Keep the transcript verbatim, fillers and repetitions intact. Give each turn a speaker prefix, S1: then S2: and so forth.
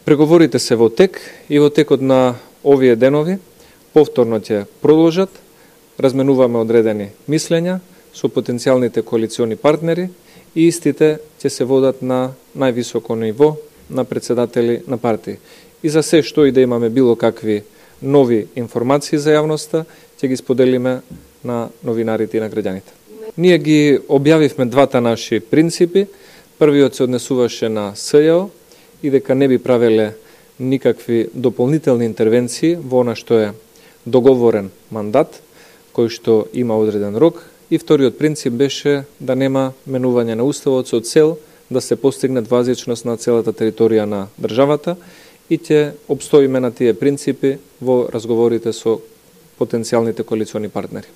S1: Преговорите се во тек и во текот на овие денови повторно ќе продолжат. Разменуваме одредени мислења со потенцијалните коалициони партнери и истите ќе се водат на највисоко ниво на председатели на партии. И за се што и да имаме било какви нови информации за јавноста, ќе ги споделиме на новинарите и на граѓаните. Ние ги објавивме двата наши принципи. Првиот се однесуваше на СЈО и дека не би правеле никакви дополнителни интервенции во она што е договорен мандат, кој што има одреден рок. И вториот принцип беше да нема менување на уставот со цел да се постигне двазичност на целата територија на државата и ќе обстоиме на тие принципи во разговорите со потенцијалните коалициони партнери.